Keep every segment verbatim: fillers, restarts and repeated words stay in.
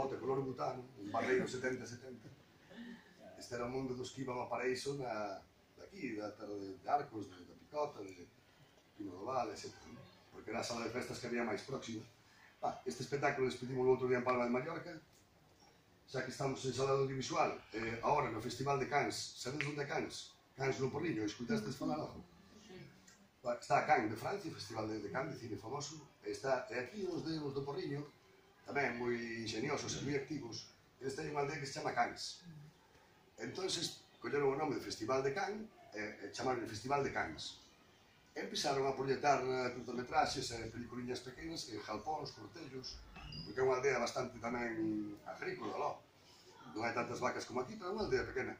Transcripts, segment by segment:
bote color butano, un barreiro setenta setenta. Este era o mundo dos que iban a Paraíso daqui, da terra de Arcos, da Picota, de Pino do Val, etcétera. Porque era a sala de festas que había máis próxima. Este espectáculo despedimos o outro día en Palma de Mallorca, xa que estamos en sala de audiovisual, agora no Festival de Cannes. Sabedes onde é Cannes? Cannes no Porriño, escutastes falar algo? Está a Cannes de Francia, o Festival de Cannes de cine famoso, e aquí os do Porriño, tamén moi ingeniosos e moi activos, eles teñen unha aldea que se chama Cannes. Entón, colleron o nome de Festival de Cannes e chamaron o Festival de Cannes. E empezaron a proyectar curtometraxes e peliculiñas pequenas en jalpóns, cortellos, porque é unha aldea bastante tamén agrícola, non? Non hai tantas vacas como aquí, pero é unha aldea pequena.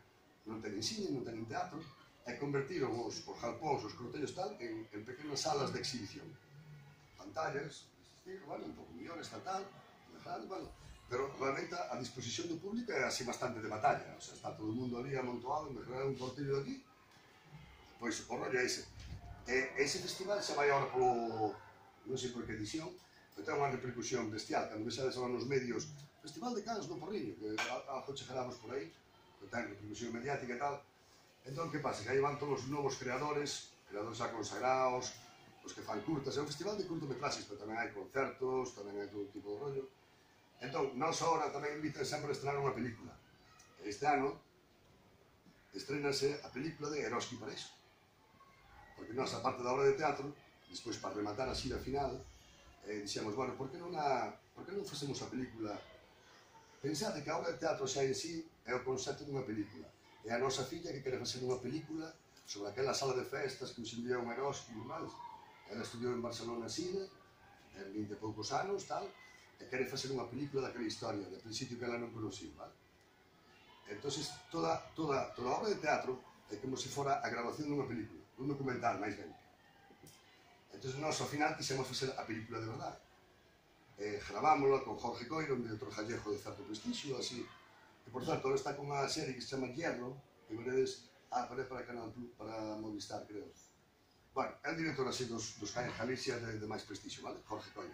Non teñen cine, non teñen teatro, e convertiron os jalpóns, os cortellos tal, en pequenas salas de exhibición. Pantallas, bueno, un pouco millóns, tal, tal, bueno, pero realmente a disposición do público é así bastante de batalla, o sea, está todo o mundo ali amontoado, me crearon un cortello de aquí, pois o rollo é ese. E ese festival xa vai agora polo, non sei por que edición, pero ten unha repercusión bestial, cando vexades agora nos medios, Festival de Cannes do Porriño, que algo chegaramos por aí, que ten repercusión mediática e tal. Entón, que pasa? Que aí van todos os novos creadores, creadores xa consagrados, os que fan curtas, é un festival de curtometraxes, pero tamén hai concertos, tamén hai todo tipo de rollo. Entón, nós agora tamén invitan sempre a estrenar unha película. Este ano estrenase a película de Eroski Paraíso. Porque nós, a parte da obra de teatro, despois para rematar a xira final, dixemos, bueno, por que non facemos a película? Pensade que a obra de teatro xa en sí é o concepto dunha película. É a nosa filla que quere facer unha película sobre aquela sala de festas que nos enviou un Eroski e máis. Ela estudiou en Barcelona cine, en vinte e poucos anos, tal, e quere facer unha película daquela historia, de principio que ela non conociu, vale? Entón, toda a obra de teatro é como se fora a grabación dunha película, un documental, máis ben. Entón, nós, ao final, quixemos facer a película de verdade. Gravámola con Jorge Coiro, un director gallego de certo prestixio, así. E, por certo, ahora está con unha serie que se chama Hierro, que veredes, ah, para Canal Plus, para Movistar, creo. Bueno, é un director así dos que hai en Galicia de máis prestixio, vale? Jorge Coiro.